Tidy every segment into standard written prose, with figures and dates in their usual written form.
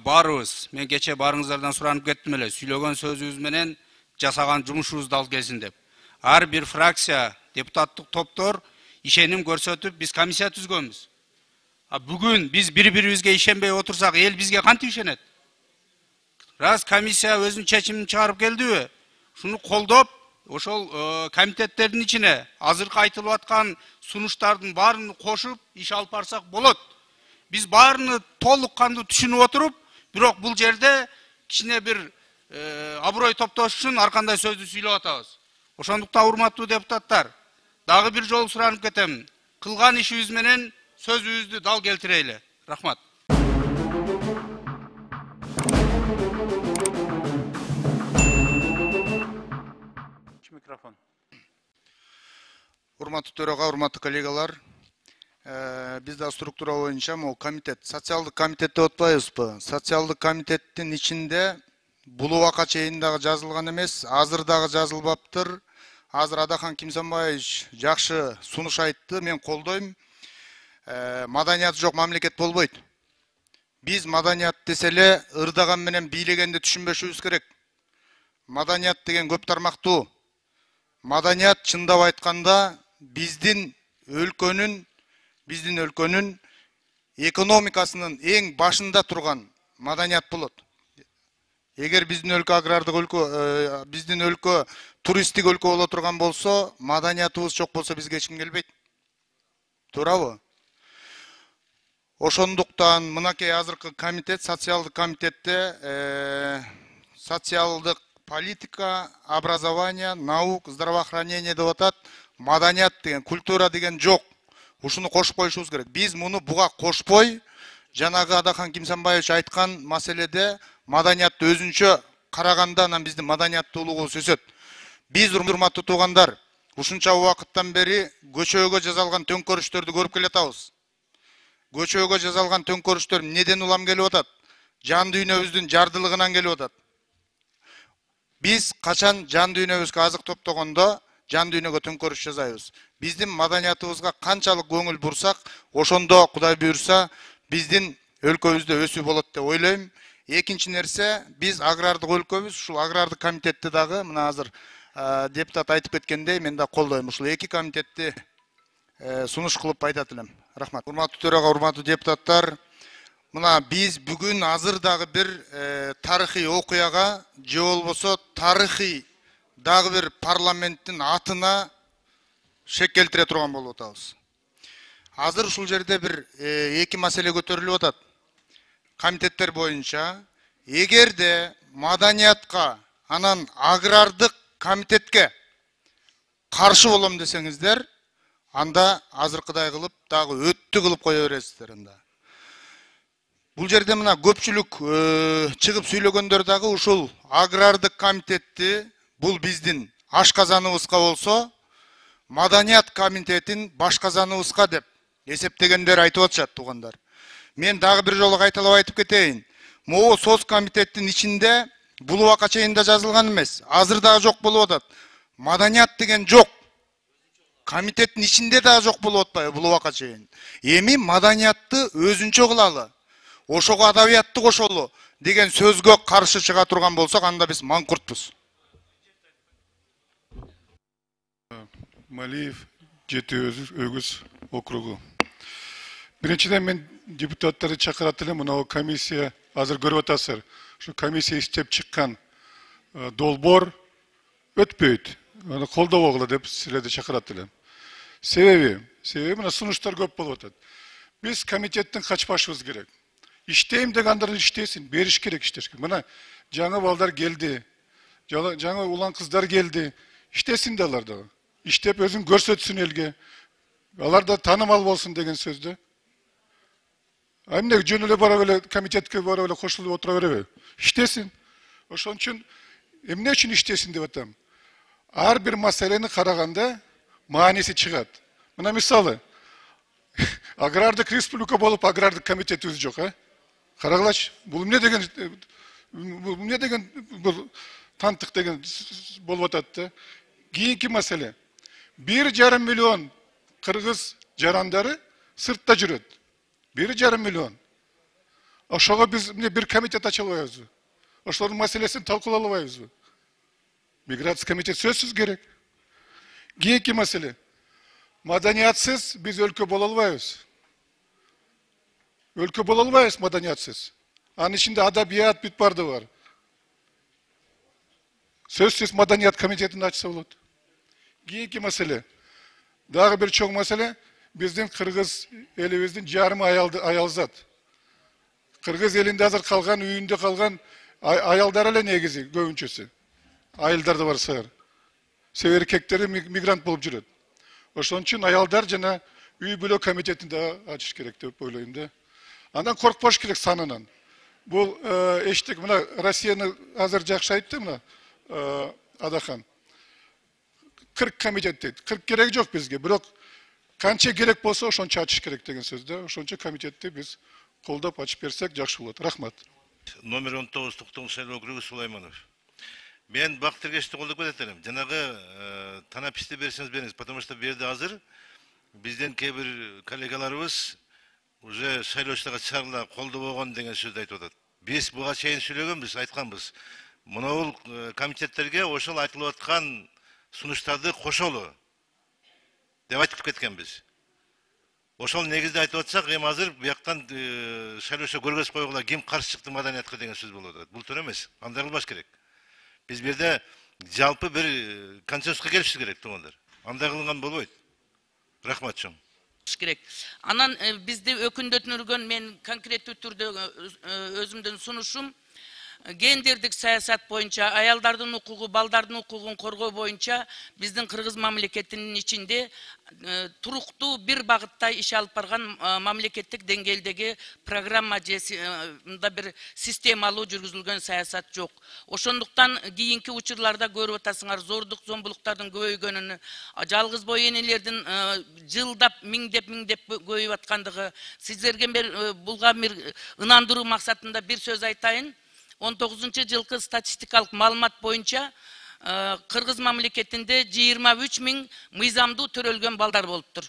Барыбыз, мен кече барыңыздардан суранып кеттим эле, сүйлөгөн сөзүбүз менен жасаган жумушубуз дал келсин деп. Ар бир фракция, депутаттык топтор ишеним көрсөтүп, биз комиссия түзгөнбүз. Бүгүн биз бири-бирибизге ишенбей отурсак, эл бизге кантип ишенет? Раз комиссия өзүнүн чечимин чыгарып келдиби? Шуну колдоп, ошол комитеттердин ичине азыркы айтылып аткан сунуштардын баарын кошуп иш алып барсак болот. Биз баарыны толук кандуу түшүнүп отуруп, бирок бул жерде кичине бир аброй топтош үчүн ар кандай сөздү сүйлөп атабыз. Ошондуктан урматтуу депутаттар, дагы бир жолу суранып кетем. Кылган ишибиз менен сөзүбүздү дал келтирели. Рахмат. Микрофон. Урматтуу төрага, урматтуу коллегалар, бизде структура боюнча могу комитет, социалдык комитет деп атпайбызбы? Социалдык комитеттин ичинде бул убакка чейин дагы жазылган эмес, азыр дагы жазылбаптыр. Азыр Адахан Кимсанбаевич жакшы сунуш айтты, мен колдойм. Маданияты жок мамлекет болбойт. Биз маданият десе эле ырдаган менен бийлегенди түшүнбөшүбүз керек. Маданият деген көп тармактуу. Маданият чындап айтканда биздин өлкөнүн экономикасынын эң башында турган маданият болот. Эгер биздин өлкө агрардык өлкө, биздин өлкө туристтик өлкө боло турган болсо, маданиятыбыз жок болсо бизге эч ким келбейт. Туурабы? Ошондуктан мынакей азыркы комитет, социалдык комитетте социалдык политика, образование, наук, здравоохранение деп атат. Маданият деген, культура деген жок. Ушуну кошуп коюшубуз керек. Биз муну буга кошпой, жанагы Адахан Кимсанбаевич айткан маселеде маданиятты өзүнчө караганда анан биздин маданияттуулугубуз өсөт. Биз, урматтуу туугандар, ушунча убакыттан бери көчөгө жазалган төңкөрүштөрдү көрүп келатабыз. Көчөгө жазалган төңкөрүштөр эмнеден улам келип атат? Жан дүйнөбүздүн жардылыгынан келип атат. Биз качан жан дүйнөбүзгө азык топтогондо жан дүйнөгө төңкөрүш жасайбыз. Биздин маданиятыбызга канчалык көңүл бурсак, ошондо Кудай буйрса биздин өлкөбүздө өсүү болот деп ойлойм. Экинчи нерсе, биз агрардык өлкөбүз, ушул агрардык комитетти дагы мына азыр депутат айтып кеткендей, мен да колдойм. Ушул эки комитетти сунуш кылып айтат элем. Рахмат. Урматтуу төрага, урматтуу депутаттар, мына биз бүгүн азыр дагы бир тарыхый окуяга, же болбосо тарыхый дагы бир парламенттин атына шек келтире турган болуп атабыз. Азыр ушул жерде бир эки маселе көтөрүлүп атат. Комитеттер боюнча, эгерде маданиятка, анан агрардык комитетке каршы болом десеңиздер, анда азыркыдай кылып дагы өттү кылып кое бересиздер анда. Бул жерде мына көпчүлүк чыгып сүйлөгөндөр дагы ушул агрардык комитетти, бул биздин ашказаныбызга болсо, маданият комитетин башказаныбызга деп эсептегендер айтып атышат, туугандар. Мен дагы бир жолу кайталап айтып кетейин. Могу соц комитеттин ичинде бул убакка чейин да жазылган эмес. Азыр дагы жок болуп атат. Маданият деген жок. Комитеттин ичинде дагы жок болуп атпайбы бул убакка чейин. Эми маданиятты өзүнчө кылалы, ошого адабиятты кошолу деген сөзгө каршы чыга турган болсок, анда биз маңкуртпуз. Малиев, Жети Өгүз округу. Биринчиден мен депутаттарды чакырат элем, мына комиссия азыр көрүп атасыздар. Ушу комиссия иштеп чыккан долбоор өтпөйт. Аны колдобогула деп силерди чакырат элем. Себеби мына сунуштар көп болуп атат. Биз комитеттен качпашыбыз керек. Иштейм дегендер иштесин, бериш керек иштешке. Мына жаңы балдар келди, жаңы улан кыздар келди. Иштесин да алар дагы. Иштеп өзүн көрсөтсүн элге. Алар да таанымал болсун деген сөздү. Эмне жөн эле бара эле комитетке бара эле кошулуп отура береби? Иштесин. Ошон үчүн эмне үчүн иштесин деп атам. Ар бир маселени караганда мааниси чыгат. Мына мисалы, агрардык республика болуп агрардык комитетибиз жок, Карагылачы, бул эмне деген бул тантык деген болуп атат да. Кийинки маселе. 1,5 миллион кыргыз жарандары сыртта жүрөт. 1,5 миллион. Ошого биз бир комитет ача албайбызбы? Ошолордун маселесин талкуулай албайбызбы? Миграция комитети сөзсүз керек. Кийинки маселе. Маданиятсыз биз өлкө боло албайбыз. Өлкө боло албайбыз маданиятсыз. Анын ичинде адабият бүт барды бар. Сөзсүз маданият комитетин ачса болот. Кийинки маселе. Дагы бир чоң маселе, биздин кыргыз элибиздин жарымы аялзат. Кыргыз элинде азыр калган, үйүндө калган аялдар эле негизи көбүнчөсү. Айылдар да бар сыгыр. Себеби эркектери мигрант болуп жүрөт. Ошон үчүн аялдар жана үй бүлө комитетин да ачыш керек деп ойлойм да. Андан коркпош керек санынан. Бул эчтек мына Россияны азыр жакшы айтты мына Адахан. 40 комитет дейт. 40 керек жок бизге, бирок канча керек болсо ошончо ачыш керек деген сөз да. Ошончо комитетти биз колдоп ачып берсек жакшы болот. Рахмат. Номер 19 Токтогул шайлоо округу Сулайманов. Мен бак тергешти колдоп кетем. Жанагы танаписти берсеңиз бериңиз, потому что бу жерде азыр бизден кээ бир коллегаларыбыз уже шайлоочуларга чыгарыла колдобогон деген сөздү айтып атат. Биз буга чейин сүйлөгөнбүз, айтканбыз. Мына комитеттерге ошол айтылып аткан сунуштарды кошолу деп айтып кеткенбиз. Ошол негизде айтып атсак, эми азыр бияктан шайлоочу көргөз койгула ким каршы чыкты маданиятка деген сөз болуп атат. Бул туура эмес. Андай кылбаш керек. Биз бу жерде жалпы бир консенсуска келишибиз керек, туугандар. Андай кылынган болбойт. Рахмат чоң. Керек. Анан бизди өкүндөтүргөн мен конкреттүү түрдө өзүмдүн сунушум гендердик саясат боюнча, аялдардын укугу, балдардын укугун коргоо боюнча биздин кыргыз мамлекетинин ичинде туруктуу бир багытта иш алып барган мамлекеттик деңгээлдеги программа же бир системалуу жүргүзүлгөн саясат жок. Ошондуктан кийинки учурларда көрүп атасыңар, зордук, зомбулуктардын көбөйгөнүн, жалгыз бой энелердин жылдап, миңдеп көбөйүп аткандыгы, сиздерге булга бир ынандыруу максатында бир сөз айтайын. 19-жылкы статистикалык маалымат боюнча Кыргыз мамлекетинде 23 000 мыйзамдуу төрөлгөн балдар болуптур.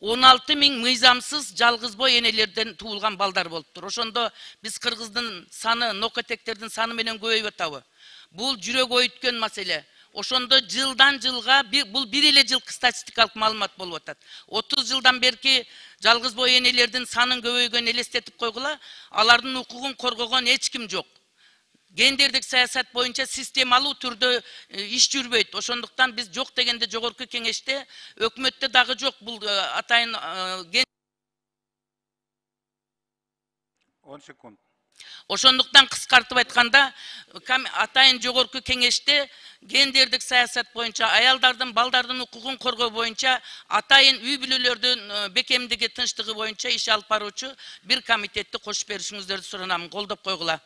16 000 мыйзамсыз жалгыз бой энелерден туулган балдар болуптур. Ошондо биз кыргыздын саны, нокотектердин саны менен көбөйүп атабы? Бул жүрөк ойүткөн маселе. Ошондо жылдан жылга бул бир эле жылкы статистикалык маалымат болуп атат. 30 жылдан берки жалгыз бой энелердин санын көбөйгөнүн элестетип койгула, алардын укугун коргогон эч ким жок. Гендердик саясат боюнча системалуу түрдө иш жүрбөйт. Ошондуктан биз жок дегенде жогорку кеңеште, өкмөттө дагы жок бул атайын 10 секунд. Ошондуктан кыскартып айтканда, атайын жогорку кеңеште гендердик саясат боюнча, аялдардын, балдардын укугун коргоо боюнча, атайын үй бүлөлөрдүн бекемдиги, тынчтыгы боюнча иш алып баруучу бир комитетти кошуп беришиңиздерди суранам. Колдоп койгула.